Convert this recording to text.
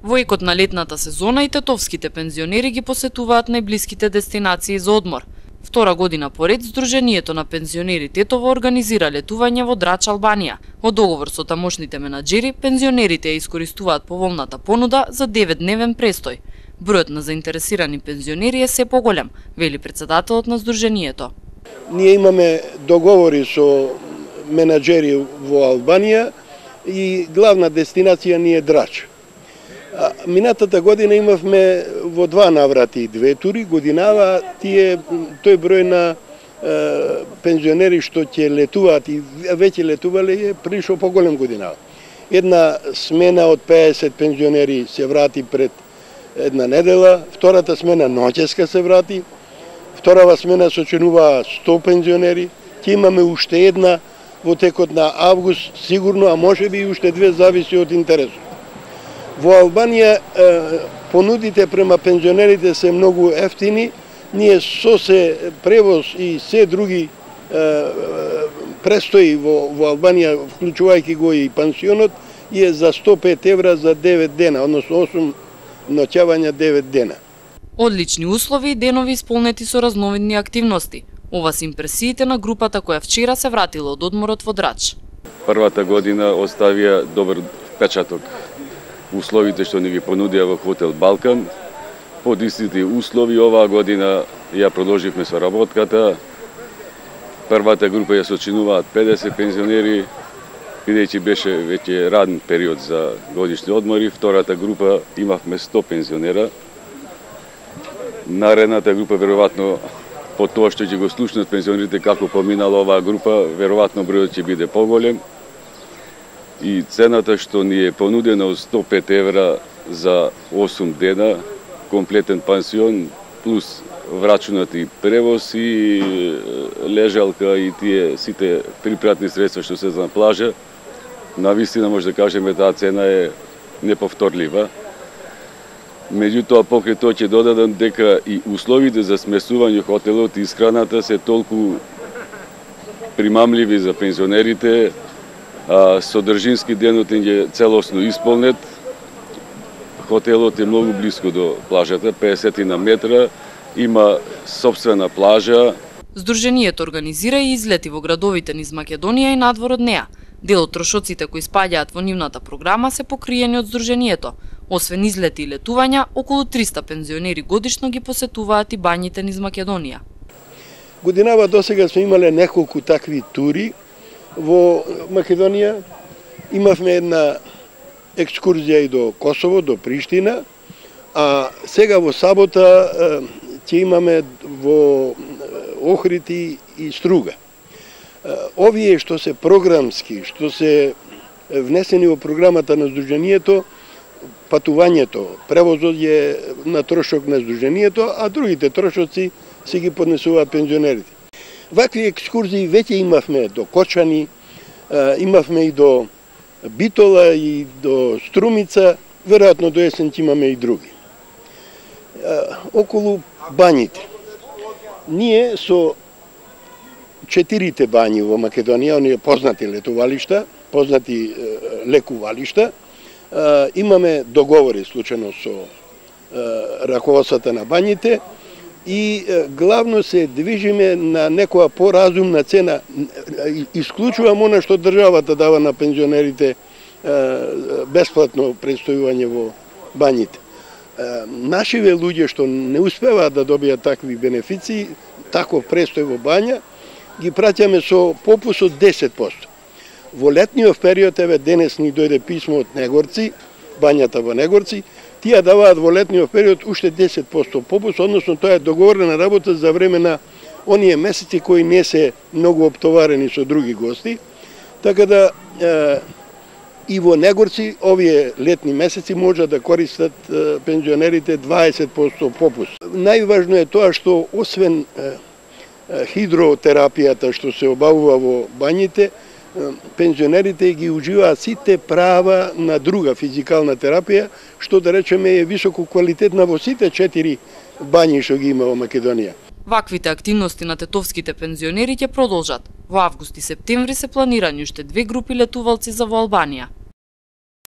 Во екот на летната сезона и тетовските пензионери ги посетуваат најблиските дестинации за одмор. Втора година поред, Сдруженијето на пензионери Тетово организира летување во Драч, Албанија. Од договор со тамошните менаџери, пензионерите ја искористуваат поволната понуда за 9-дневен престој. Бројот на заинтересирани пензионери е се поголем, вели претседателот на Сдруженијето. Ние имаме договори со менаџери во Албанија и главна дестинација ни е Драч. Минатата година имавме во два наврати две тури, годинава тој број на пензионери што ќе летуваат и веќе летувале е прилично поголем годинава. Една смена од 50 пензионери се врати пред една недела, втората смена ноќеска се врати, вторава смена сочинуваа 100 пензионери, ќе имаме уште една во текот на август сигурно, а можеби и уште две, зависи од интересот. Во Албанија понудите према пензионерите се многу ефтини. Ние со се превоз и се други престои во Албанија, вклучувајќи го и пансионот, е за 105 евра за 9 дена, односно 8 ноќавања 9 дена. Одлични услови и денови исполнети со разновидни активности. Ова се импресиите на групата која вчера се вратила од одморот во Драч. Првата година оставија добар впечаток. Условите што ни ги понудија во хотел Балкан, под истите услови оваа година ја продолживме со работката. Првата група ја сочинуваат 50 пензионери, бидејќи беше веќе раден период за годишни одмори. Втората група имавме 100 пензионера. Наредната група веројатно по тоа што ќе го слушнат пензионерите како поминала оваа група, веројатно бројот ќе биде поголем. И цената што ни е понудена од 105 евра за 8 дена, комплетен пансион, плюс врачунати превоз и лежалка и тие сите припратни средства што се на плажа, навистина може да кажеме таа цена е неповторлива. Меѓутоа, покрај тоа ќе додадам дека и условите за смесување хотелот и исхраната се толку примамливи за пензионерите, содржински денот е целосно исполнет. Хотелот е многу близко до плажата, 50 на метра, има сопствена плажа. Сдруженијето организира и излети во градовите низ Македонија и надвор од неа. Дел од трошоците кои спаѓаат во нивната програма се покриени од Сдруженијето. Освен излети и летувања, околу 300 пензионери годишно ги посетуваат и бањите низ Македонија. Годинава досега сме имале неколку такви тури во Македонија. Имавме една екскурзија и до Косово, до Приштина, а сега во сабота ќе имаме во Охрид и Струга. Овие што се програмски, што се внесени во програмата на Сдруженијето, патувањето, превозот е на трошок на Сдруженијето, а другите трошоци си ги поднесуваат пензионерите. Вакви екскурзии веќе имавме до Кочани, имавме и до Битола и до Струмица, веројатно до есен ќе имаме и други. Околу бањите. Ние со 4 бањи во Македонија, оние познати летувалишта, познати лекувалишта, имаме договори случајно со раководствата на бањите и главно се движиме на некоја поразумна цена. Исклучувам она што државата дава на пензионерите бесплатно престојување во бањите. Нашиве луѓе што не успеваат да добијат такви бенефиции, таков престој во бања, ги праќаме со попус од 10%. Во летниот период, еве денес ни дојде писмо од Негорци, бањата во Негорци, тие даваат во летниот период уште 10% попус, односно тоа е договорена работа за време на оние месеци кои не се многу оптоварени со други гости, така да и во Негорци овие летни месеци може да користат пензионерите 20% попус. Најважно е тоа што освен хидротерапијата што се обавува во бањите, пензионерите ги уживаат сите права на друга физикална терапија, што да речеме е високо квалитетна во сите 4 бањи што ги има во Македонија. Ваквите активности на тетовските пензионери ќе продолжат. Во август и септември се планирани уште 2 групи летувалци за во Албанија.